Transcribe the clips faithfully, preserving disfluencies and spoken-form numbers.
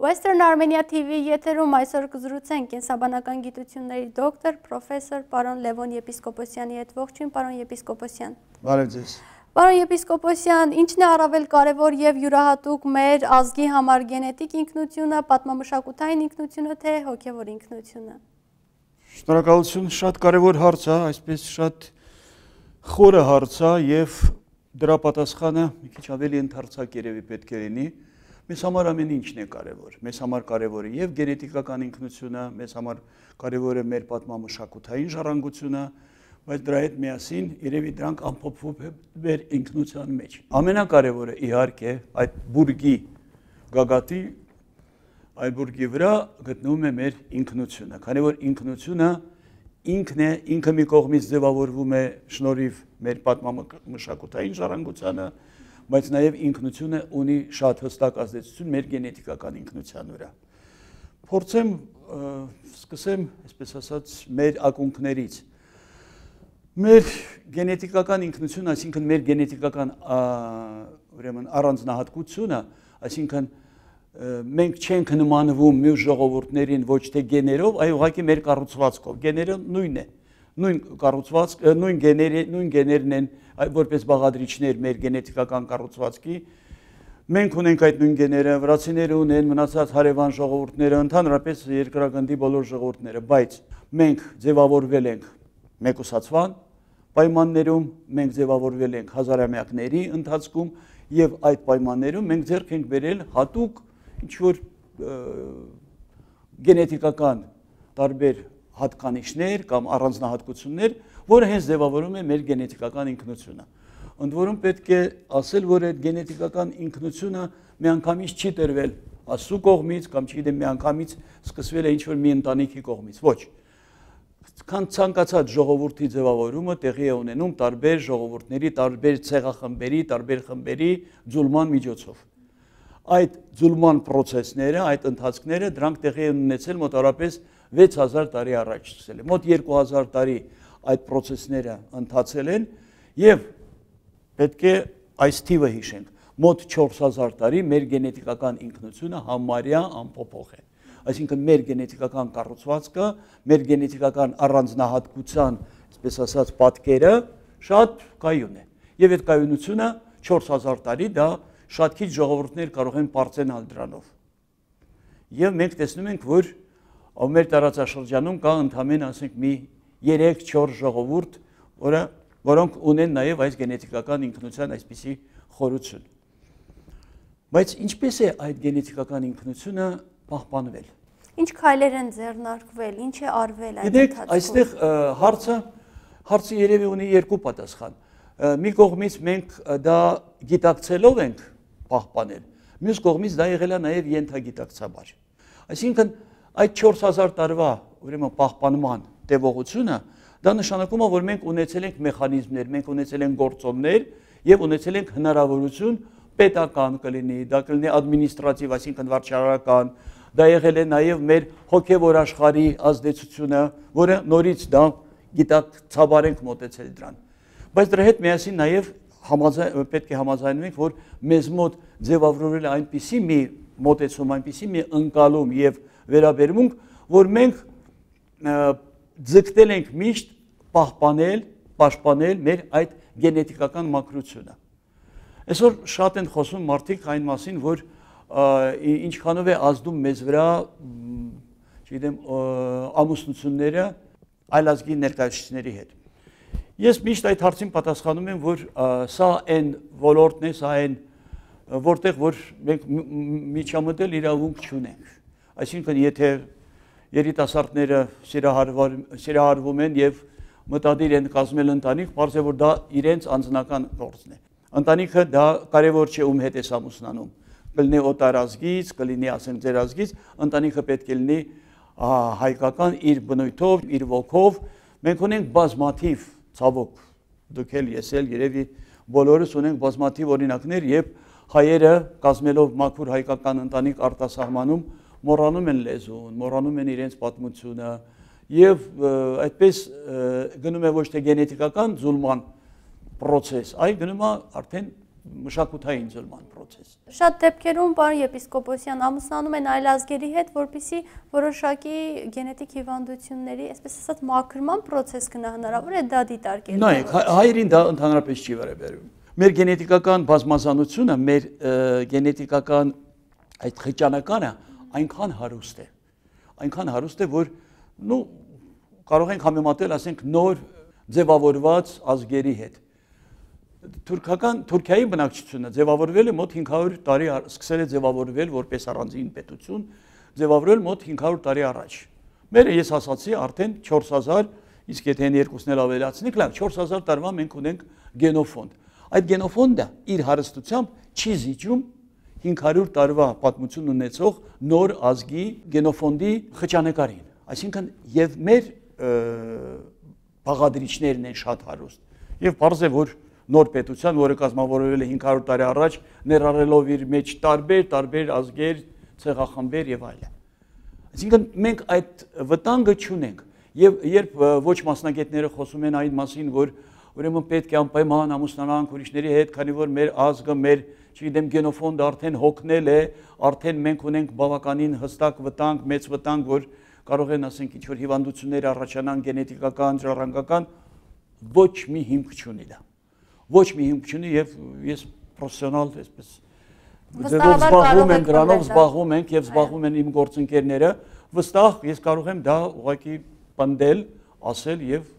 Western Armenia T V եթերում այսօր կզրուցենք կենսաբանական գիտությունների դոկտոր, պրոֆեսոր պարոն Լևոն Եպիսկոպոսյանի հետ։ Ողջույն, պարոն Եպիսկոպոսյան։ Բարև ձեզ։ Պարոն Եպիսկոպոսյան, ինչն է առավել կարևոր եւ յուրահատուկ մեր ազգի համար գենետիկ ինքնությունը, պատմամշակութային ինքնությունը, թե հոգեվոր ինքնությունը։ Շնորհակալություն, շատ կարևոր հարց է, այսպես շատ խորը հարց է եւ դրա պատասխանը մի քիչ ավելի ընդարձակ երևի պետք է լինի։ Մեզ համար ամեն ինչն է կարևոր, մեզ համար կարևոր է եւ գենետիկական ինքնությունը, մեզ համար կարևոր է մեր պատմամշակութային ժառանգությունը, բայց դրա հետ միասին երևի դրանք ամփոփվում են մեր ինքնության մեջ։ Ամենակարևորը իհարկե այդ բուրգի գագաթի այդ բուրգի վրա գտնվում է մեր ինքնությունը, քանի որ ինքնությունը ինքն է, ինքը մի կողմից ձևավորվում է շնորհիվ մեր պատմամշակութային ժառանգությանը, բայց նաև ինքնությունը ունի շատ հստակ ազդեցություն մեր գենետիկական ինքնության վրա։ Փորձեմ սկսեմ, այսպես ասած, մեր ակունքներից։ Մեր գենետիկական ինքնությունը, այսինքն մեր գենետիկական ուրեմն առանձնահատկությունը, այսինքն մենք չենք նմանվում մյուս ժողովուրդներին ոչ թե գեներով, այլ ուղղակի մեր կառուցվածքով։ Գեները նույնն է, նույն կառուցվածք, նույն գեները, նույն գեներն են որպես բաղադրիչներ մեր գենետիկական կառուցվածքի։ Մենք ունենք այդ նույն գեները, վրացիները ունեն, մնացած հարևան ժողովուրդները, ընդհանրապես երկրագնդի բոլոր ժողովուրդները, բայց մենք ձևավորվել ենք մեկուսացման պայմաններում, մենք ձևավորվել ենք հազարամյակների ընթացքում եւ այդ պայմաններում մենք ձեռք ենք բերել հատուկ ինչ-որ գենետիկական տարբեր հատկանիշներ կամ առանձնահատկություններ, որը հենց ձևավորում է մեր գենետիկական ինքնությունը։ Ընդ որում պետք է ասել, որ այդ գենետիկական ինքնությունը միանգամից չի տրվել Աստծո կողմից կամ չգիտեմ միանգամից սկսվել է ինչ-որ մի ընտանիքի կողմից, ոչ։ Քան ցանկացած ժողովրդի ձևավորումը տեղի է ունենում տարբեր ժողովուրդների, տարբեր ցեղախմբերի, տարբեր խմբերի ձուլման միջոցով։ Այդ ձուլման process-ները, այդ ընթացքները դրանք տեղի են ունեցել մոտավորապես վեց հազար տարի առաջ սկսել է։ Մոտ երկու հազար տարի այդ process-ները ընթացել են եւ պետք է այս թիվը հիշենք։ Մոտ չորս հազար տարի մեր գենետիկական ինքնությունը համարյա անփոփոխ է։ Այսինքն մեր գենետիկական կառուցվածքը, մեր գենետիկական առանձնահատկության, այսպես ասած, պատկերը շատ կայուն է։ Եվ այդ կայունությունը չորս հազար տարի դա շատ քիչ ժողովուրդներ կարող են բարձրանալ դրանով։ Եվ մենք տեսնում ենք, որ մեր տարածաշրջանում կա ընդամենը, ասենք, մի երեք չորս ժողովուրդ, որը որոնք ունեն նաև այս գենետիկական ինքնության այսպիսի խորություն։ Բայց ինչպես է այդ գենետիկական ինքնությունը պահպանվել։ Ինչ քայլեր են ձեռնարկվել, ինչ է արվել այդ ընթացքում։ Գիտեք, այստեղ հարցը հարցը երևի ունի երկու պատասխան։ Մի կողմից մենք դա գիտակցելով ենք պահպանել, մյուս կողմից դա եղել է նաև ենթագիտակցաբար։ Այսինքն այդ չորս հազար տարվա ուրեմն պահպանման տևողությունը դա նշանակում է, որ մենք ունեցել ենք մեխանիզմներ, մենք ունեցել ենք գործոններ եւ ունեցել ենք հնարավորություն պետական կլինի, դա կլինի ադմինիստրատիվ, այսինքն վարչարարական, դա եղել է նաև մեր հոգևոր աշխարհի ազդեցությունը, որը նորից դա գիտակցաբար ենք մոտեցել դրան։ Բայց դրա հետ միասին նաև պետք է համաձայնվենք, որ մեզ մոտ ձևավորվել է այնպիսի մի մոտեցում, այնպիսի մի ընկալում եւ վերաբերմունք, որ մենք ձգտել ենք միշտ պահպանել, պաշտպանել մեր այդ գենետիկական մաքրությունը։ Այսօր շատ են խոսում մարդիկ այն մասին, որ ինչքանով է ազդում մեզ վրա, չգիտեմ, ամուսնությունները այլազգի ներկայացուցիչների հետ։ Ես միշտ այդ հարցին պատասխանում եմ, որ սա այն ոլորտն է, սա այն որտեղ որ մենք միջամտել իրավունք չունենք։ Այսինքն, եթե երիտասարդները սիրահարվում են եւ մտադիր են կազմել ընտանիք, պարզ է, որ դա իրենց անձնական գործն է։ Ընտանիքը դա կարևոր չէ ում հետ է ամուսնանում։ Կլինի օտար ազգից, կլինի ասենք ձեր ազգից, ընտանիքը պետք է լինի հայկական իր բնույթով, իր ոգով։ Մենք ունենք բազմաթիվ ցավոք, դուք էլ ես էլ երևի բոլորս ունենք բազմաթիվ օրինակներ, երբ հայերը կազմելով մաքուր հայկական ընտանիք արտասահմանում մոռանում են լեզուն, մոռանում են իրենց պատմությունը եւ այդպես գնում է ոչ թե գենետիկական ձուլման process, այլ գնում է արդեն մշակութային ձուլման process։ Շատ դեպքերում պարոն եպիսկոպոսյան ամուսնանում են այլ ազգերի հետ, որպեսզի որոշակի գենետիկ հիվանդությունների, այսպես ասած, մաքրման process գնա, հնարավոր է դա դիտարկել։ Նայեք, հայերին դա ընդհանրապես չի վերաբերում։ Մեր գենետիկական բազմազանությունը, մեր գենետիկական այդ խճանականը այնքան հարուստ է։ Այնքան հարուստ է, որ նու կարող ենք համեմատել, ասենք, նոր ձևավորված ազգերի հետ։ Թուրքական Թուրքիայի բնակչությունը ձևավորվել է մոտ հինգ հարյուր տարի, սկսել է ձևավորվել որպես առանձին պետություն, ձևավորվել մոտ հինգ հարյուր տարի առաջ։ Մերը ես ասացի արդեն չորս հազար, իսկ եթե այն երկուսն էլ ավելացնենք, լավ, չորս հազար տարվա մենք ունենք գենոֆոնդ։ Այդ գենոֆոնդը իր հարստությամբ չի զիջում հինգ հարյուր տարվա պատմություն ունեցող նոր ազգի գենոֆոնդի խճանկարին։ Այսինքն եւ մեր բաղադրիչներն են շատ հարուստ։ Եվ պարզ է, որ նոր պետության, որը կազմավորվել է հինգ հարյուր տարի առաջ, ներառելով իր մեջ տարբեր, տարբեր ազգեր, ցեղախմբեր եւ այլն։ Այսինքն մենք այդ վտանգը չունենք։ Եվ երբ ոչ մասնագետները խոսում են այն մասին, որ ուրեմն պետք է անպայման ամուսնանանք ուրիշների հետ, քանի որ մեր ազգը, մեր, չգիտեմ, գենոֆոնդը արդեն հոգնել է, արդեն մենք ունենք բավականին հստակ վտանգ, մեծ վտանգ, որ կարող են, ասենք, ինչ-որ հիվանդություններ առաջանան գենետիկական, ժառանգական, ոչ մի հիմք չունի դա։ Ոչ մի հիմք չունի եւ ես պրոֆեսիոնալ այսպես զբաղվում եմ դրանով, զբաղվում ենք եւ զբաղվում են իմ գործընկերները, վստահ ես կարող եմ դա ուղղակի պնդել, ասել եւ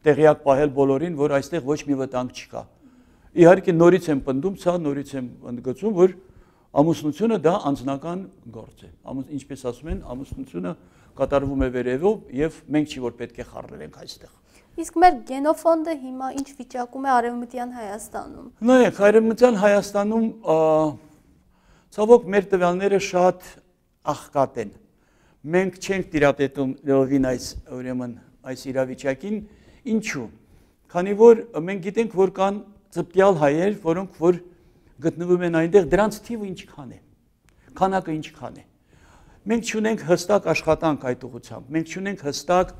տեղյակ պահել բոլորին, որ այստեղ ոչ մի վտանգ չկա։ Իհարկե նորից եմ պնդում, սա նորից եմ ընդգծում, որ ամուսնությունը դա անձնական գործ է։ Ինչպես ասում են, ամուսնությունը կատարվում է վերևով եւ մենք չի որ պետք է խառնենք այստեղ։ Իսկ մեր գենոֆոնդը հիմա ինչ վիճակում է Արևմտյան Հայաստանում։ Նայեք, Արևմտյան Հայաստանում ցավոք մեր տվյալները շատ աղքատ են։ Մենք չենք տիրապետում լովին այս ուրեմն այս իրավիճակին, ինչու՞։ Քանի որ մենք գիտենք, որ կան ծպտյալ հայեր, որոնք որ գտնվում են այնտեղ, դրանց թիվը ինչքան է։ Քանակը ինչքան է։ Մենք չունենք հստակ աշխատանք այդ ուղղությամբ։ Մենք չունենք հստակ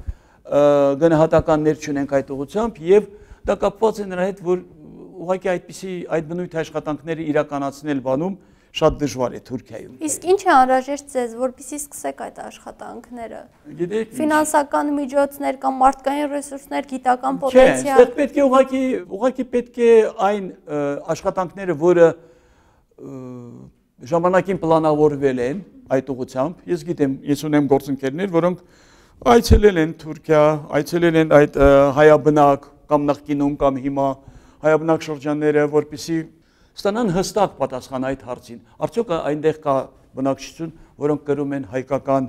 գնահատականներ չունենք այդ ուղղությամբ եւ դա կապված է նրա հետ, որ ուղղակի այդպիսի այդ բնույթ աշխատանքները իրականացնել բանում շատ դժվար է Թուրքիայում։ Իսկ ինչ է անհրաժեշտ ձեզ, որպեսզի սկսեք այդ աշխատանքները։ Գիտեք, ֆինանսական միջոցներ կամ մարդկային ռեսուրսներ, գիտական պոտենցիալ։ Չէ, պետք է ուղղակի ուղղակի պետք է այն աշխատանքները, որը ժամանակին պլանավորվել են այդ ուղղությամբ, ես գիտեմ, ես ունեմ գործընկերներ, որոնք այցելել են Թուրքիա, այցելել են այդ հայաբնակ կամ նախկինում կամ հիմա հայաբնակ շրջանները, որպեսզի ստանան հստակ պատասխան այդ հարցին։ Արդյոք այնտեղ կա բնակչություն, որոնք կրում են հայկական,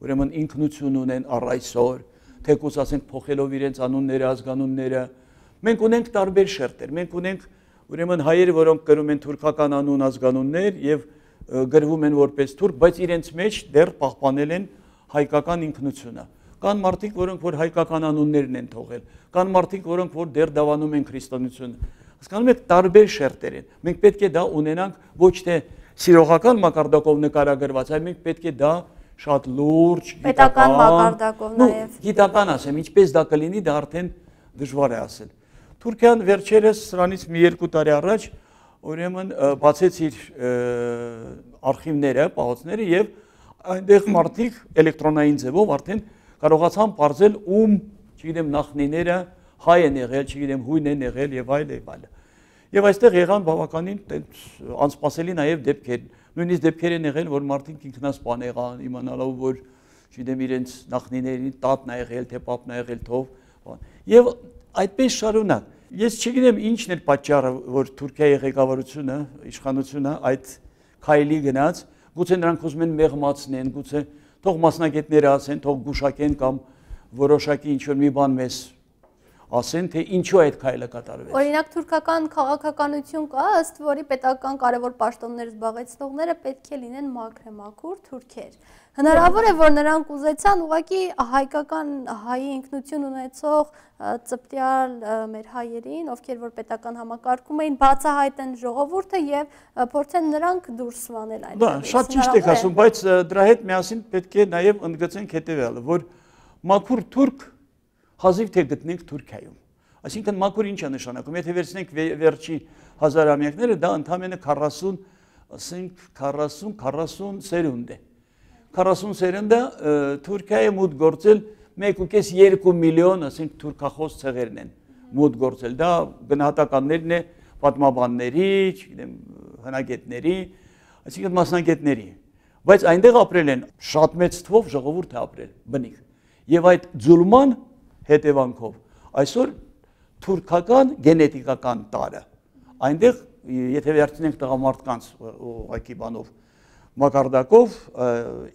ուրեմն ինքնություն ունեն առ այսօր, թեկուզ ասենք փոխելով իրենց անունները, ազգանունները։ Մենք ունենք տարբեր շերտեր, մենք ունենք ուրեմն հայեր, որոնք կրում են թուրքական անուն, ազգանուններ եւ գրվում են որպես թուրք, բայց իրենց մեջ դեռ պահպանել են հայկական ինքնությունը։ Կան մարդիկ, որոնք որ հայկական անուններն են թողել, կան մարդիկ, որոնք որ դեռ դավանում են քրիստոնեությունը։ Հասկանում եք, տարբեր շերտեր են։ Մենք պետք է դա ունենանք ոչ թե սիրողական մակարդակով նկարագրված, այլ մենք պետք է դա շատ լուրջ, պետական մակարդակով նաև։ Գիտական ասեմ, ինչպես դա կլինի, դա արդեն դժվար է ասել։ Թուրքիան վերջերս սրանից մի երկու տարի առաջ ուրեմն բացեց իր արխիվները, պահոցները եւ այնտեղ մարդիկ էլեկտրոնային ձևով արդեն կարողացան բարձել ում, չգիտեմ, նախնիները հայ են եղել, չգիտեմ, հույն են եղել եւ այլ եւ այլ։ Եվ այստեղ եղան բավականին անսպասելի նաեւ դեպքեր, նույնիսկ դեպքեր են եղել, որ մարդիկ ինքնասպան եղան, իմանալով, որ չգիտեմ, իրենց նախնիների տատն է եղել, թե պապն է եղել, թող։ Եվ այդպես շարունակ։ Ես չգիտեմ ինչն է պատճառը, որ Թուրքիայի ղեկավարությունը, իշխանությունը այդ քայլի գնաց, գուցե նրանք ուզում են մեղմացնեն, գուցե թող մասնագետները ասեն, թող գուշակեն կամ որոշակի ինչ-որ մի բան մեզ ասեն, թե ինչու այդ քայլը կատարվեց։ Օրինակ թուրքական քաղաքականություն կա, ըստ որի պետական կարևոր պաշտոններ զբաղեցնողները պետք է լինեն մաքրեմաքուր թուրքեր։ Հնարավոր է, որ նրանք ուզեցան ուղղակի հայկական հայի ինքնություն ունեցող ծպտյալ մեր հայերին, ովքեր որ պետական համակարգում էին, բացահայտեն ժողովուրդը եւ փորձեն նրանք դուրս վանել այն։ Դա շատ ճիշտ եք ասում, բայց դրա հետ միասին պետք է նաեւ ընդգծենք հետեւյալը, որ մաքուր թուրք հազիվ թե գտնենք Թուրքիայում։ Այսինքն մաքուր ինչ է նշանակում, եթե վերցնենք վերջի հազարամյակները, դա ընդամենը քառասուն, ասենք քառասուն քառասուն սերունդ է։ քառասուն սերունդը Թուրքիայի մուտք գործել մեկ ու կես երկու միլիոն, ասենք թուրքախոս ցեղերն են մուտք գործել։ Դա գնահատականներն է պատմաբանների, չգիտեմ, հնագետների, այսինքն մասնագետների։ Բայց այնտեղ ապրել են շատ մեծ թվով ժողովուրդ է ապրել, բնիկ։ Եվ այդ ձուլման հետևանքով այսօր թուրքական գենետիկական տարը այնտեղ եթե վերցնենք տղամարդկանց ուղղակի բանով մակարդակով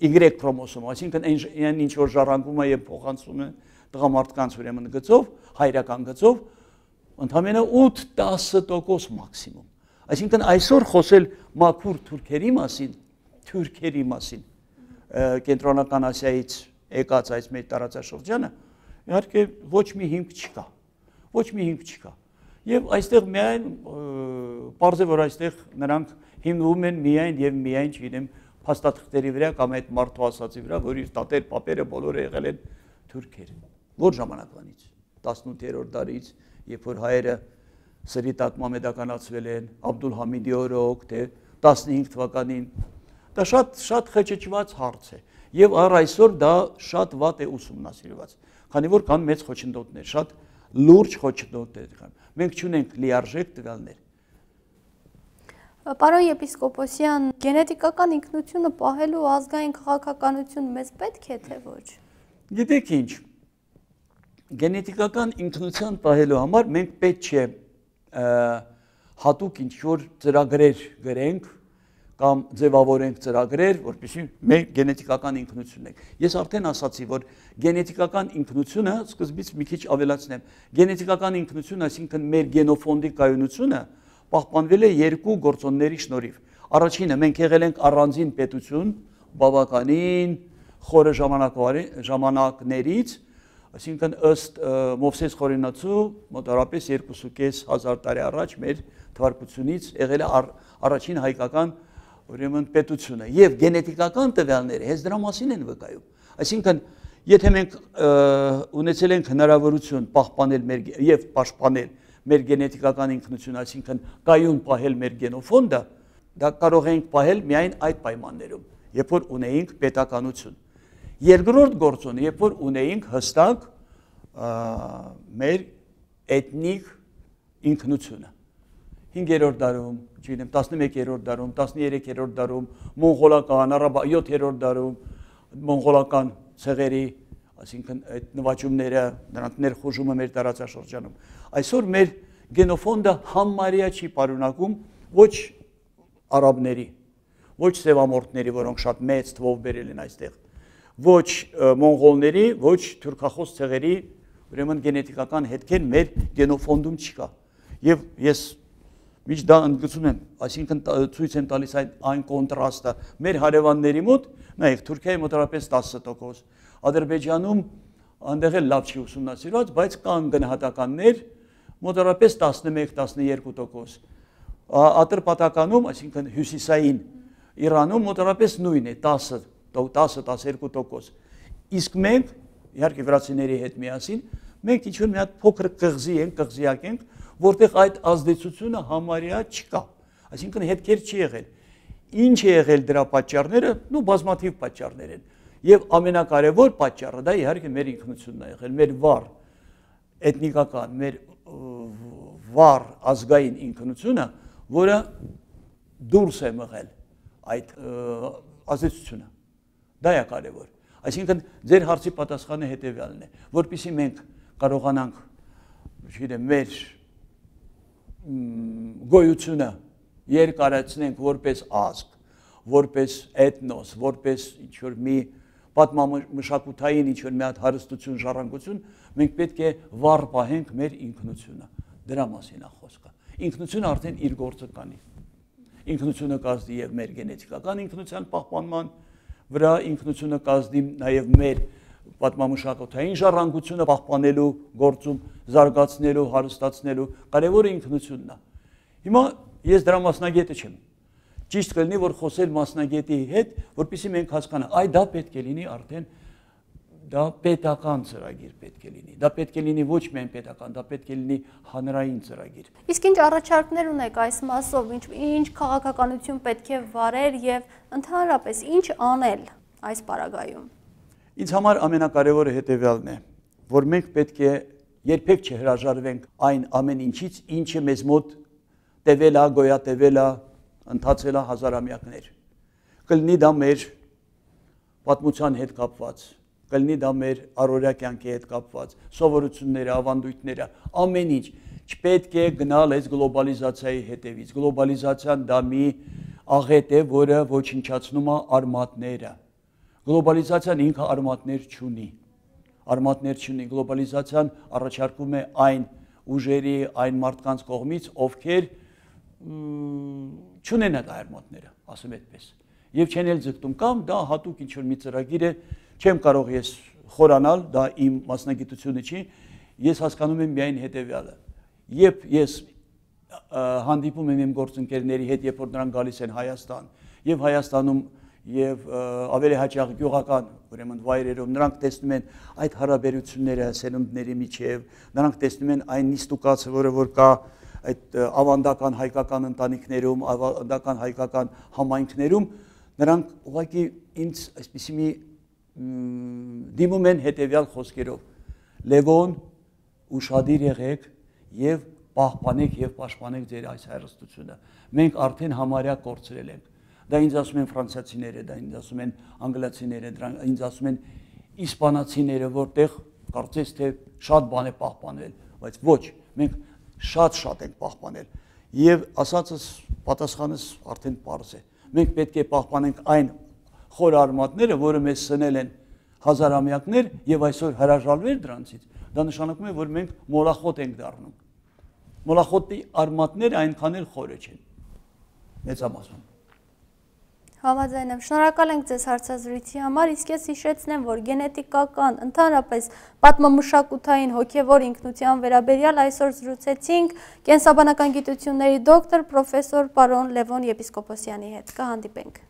Y քրոմոսոմ, այսինքն այն ինչ որ ժառանգում է եւ փոխանցում է տղամարդկանց ուրեմն գծով, հայրական գծով, ընդամենը ութ-տասը տոկոս մաքսիմում։ Այսինքն այսօր խոսել մաքուր թուրքերի մասին, թուրքերի մասին, կենտրոնական Ասիայից եկած այս մեր տարածաշրջանը, իհարկե ոչ մի հիմք չկա, ոչ մի հիմք չկա։ Եվ այստեղ միայն պարզ է, որ այստեղ նրանք հիմնվում են միայն եւ միայն, չգիտեմ, փաստաթղթերի վրա կամ այդ մարդու ասացի վրա, որ իր տատեր, պապերը բոլորը եղել են թուրքեր։ Որ ժամանակվանից, տասնութերորդ դարից, երբ որ հայերը սրի տակ մամեդականացվել են, Աբդուլհամիդի օրոք, թե տասնհինգ թվականին, դա շատ շատ խճճված հարց է։ Եվ առ այսօր դա շատ վատ է ուսումնասիրված, քանի որ կան մեծ խոչընդոտներ, շատ լուրջ խոչընդոտներ կան։ Մենք չունենք լիարժեք տվյալներ։ Պարոն եպիսկոպոսյան, գենետիկական ինքնությունը պահելու ազգային քաղաքականություն մեզ պետք է թե ոչ։ Գիտեք ինչ, գենետիկական ինքնության պահելու համար մենք պետք չէ հատուկ ինչ-որ ծրագրեր գրենք կամ ձևավորենք ծրագրեր, որպեսզի մեր գենետիկական ինքնությունն ենք։ Ես արդեն ասացի, որ գենետիկական ինքնությունը, սկզբից մի քիչ ավելացնեմ, գենետիկական ինքնությունը, այսինքն մեր գենոֆոնդի կայունությունը պահպանվել է երկու գործոնների շնորհիվ։ Առաջինը մենք եղել ենք առանձին պետություն, բավականին խորը ժամանակներից, այսինքն ըստ Մովսես Խորենացու մոտավորապես երկու հազար տարի առաջ մեր թվարկությունից եղել է առաջին հայկական ուրեմն պետությունը եւ գենետիկական տվյալները հենց դրա մասին են վկայում։ Այսինքն եթե մենք ունեցել ենք հնարավորություն պահպանել մեր եւ պաշտպանել մեր գենետիկական ինքնությունը, այսինքն կայուն պահել մեր գենոֆոնդը, դա կարող ենք պահել միայն այդ պայմաններում, երբ որ ունեինք պետականություն։ Երկրորդ գործոնը, երբ որ ունեինք հստակ մեր էթնիկ ինքնությունը։ հինգերորդ դարում, չգիտեմ, տասնմեկերորդ դարում, տասներեքերորդ դարում, մոնղոլական, յոթերորդ դարում, մոնղոլական ցեղերի, այսինքն այդ նվաճումները, նրանց ներխուժումը մեր տարածաշրջանում։ Այսօր մեր գենոֆոնդը համարյա չի պարունակում ոչ արաբների, ոչ սևամորտների, որոնք շատ մեծ թվով բերել են այստեղ, ոչ մոնղոլների, ոչ թուրքախոս ցեղերի, ուրեմն գենետիկական հետքեր մեր գենոֆոնդում չկա։ Եվ ես միշտ դա ընդգծում եմ, այսինքն ցույց եմ տալիս այն կոնտրաստը մեր հարևանների մոտ, նայեք, Թուրքիայի մոտավորապես տասը տոկոս, Ադրբեջանում այնտեղ էլ լավ չի ուսումնասիրված, բայց կան գնահատականներ մոտավորապես տասնմեկ տասներկու տոկոս։ Ատրպատականում, այսինքն հյուսիսային Իրանում մոտավորապես նույնն է, տասը տասներկու տոկոս։ Իսկ մենք, իհարկե վրացիների հետ միասին, մենք ինչ-որ մի հատ փոքր կղզի ենք, կղզիակ ենք, որտեղ այդ ազդեցությունը համարյա չկա, այսինքն հետքեր չի եղել։ Ինչ է եղել դրա պատճառները, նու բազմաթիվ պատճառներ են։ Եվ ամենակարևոր պատճառը դա իհարկե մեր ինքնությունն է եղել, մեր վառ էթնիկական, մեր վառ ազգային ինքնությունը, որը դուրս է մղել այդ ազդեցությունը։ Դա է կարևոր։ Այսինքն ձեր հարցի պատասխանը հետևյալն է, որպեսզի մենք կարողանանք, չգիտեմ, մեր գոյությունը երկարացնենք որպես ազգ, որպես էթնոս, որպես ինչ-որ մի պատմամշակութային ինչ-որ մի հատ հարստություն, ժառանգություն, մենք պետք է վառ պահենք մեր ինքնությունը։ Դրա մասին է խոսքը։ Ինքնությունը արդեն իր գործը կանի։ Ինքնությունը կազդի եւ մեր գենետիկական ինքնության պահպանման վրա, ինքնությունը կազդի նաեւ մեր պատմամշակութային ժառանգությունը պահպանելու գործում, զարգացնելու, հարստացնելու, կարևորը ինքնությունն է։ Հիմա ես դրա մասնագետը չեմ։ Ճիշտ կլինի, որ խոսել մասնագետի հետ, որպեսզի մենք հասկանանք, այ դա պետք է լինի արդեն դա պետական ծրագիր պետք է լինի։ Դա պետք է լինի ոչ միայն պետական, դա պետք է լինի հանրային ծրագիր։ Իսկ ինչ առաջարկներ ունեք այս մասով, ինչ ինչ քաղաքականություն պետք է վարել եւ ընդհանրապես ինչ անել այս պարագայում։ Ինձ համար ամենակարևորը հետեւյալն է, որ մենք պետք է երբեք չհրաժարվենք այն ամեն ինչից, ինչը մեզ մոտ տևել է, գոյատևել է, ընթացել է հազարամյակներ։ Կլինի դա մեր պատմության հետ կապված, կլինի դա մեր առօրյա կյանքի հետ կապված, սովորությունները, ավանդույթները, ամեն ինչ չպետք է գնալ այս գլոբալիզացիայի հետևից։ Գլոբալիզացիան դա մի աղետ է, որը ոչնչացնում է արմատները։ Գլոբալիզացիան ինքը արմատներ չունի։ Արմատներ չունի։ Գլոբալիզացիան առաջարկում է այն ուժերի, այն մարդկանց կողմից, ովքեր չունեն այդ արմատները, ասեմ այդպես։ Եվ չեն էլ ձգտում կամ դա հատուկ ինչ-որ մի ծրագիր է, չեմ կարող ես խորանալ, դա իմ մասնագիտությունը չի, ես հասկանում եմ միայն հետևյալը։ Երբ ես հանդիպում եմ իմ գործընկերների հետ, երբ որ նրանք գալիս են Հայաստան, եւ Հայաստանում եւ ավելի հաճախ գյուղական, ուրեմն վայրերում նրանք տեսնում են այդ հարաբերությունները սերունդների միջև, նրանք տեսնում են այն նիստուկացը, որը որ կա այդ ավանդական հայկական ընտանիքներում, ավանդական հայկական համայնքներում, նրանք ուղղակի ինձ այսպիսի մի դիմում են հետևյալ խոսքերով. Լևոն, ուշադիր եղեք եւ պահպանեք եւ պաշտպանեք ձեր այս հայրեստությունը։ Մենք արդեն համարյա կորցրել ենք։ Դա ինձ ասում են ֆրանսիացիները, դա ինձ ասում են անգլիացիները, դրանք ինձ ասում են իսպանացիները, որտեղ կարծես թե շատ բան է պահպանել, բայց ոչ, մենք շատ-շատ ենք պահպանել։ Եվ ասածս պատասխանս արդեն պարզ է։ Մենք պետք է պահպանենք այն խոր արմատները, որը մեզ սնել են հազարամյակներ եւ այսօր հրաժարվել դրանցից, դա նշանակում է, որ մենք մոլախոտ ենք դառնում։ Մոլախոտի արմատները այնքան էլ խորը չեն։ Մեծամասն։ Համաձայն եմ, շնորհակալ ենք ձեզ հարցազրույցի համար, իսկ ես հիշեցնեմ, որ գենետիկական, ընդհանրապես պատմամշակութային հոգևոր ինքնության վերաբերյալ այսօր զրուցեցինք կենսաբանական գիտությունների դոկտոր պրոֆեսոր պարոն Լևոն Եպիսկոպոսյանի հետ։ Կհանդիպենք։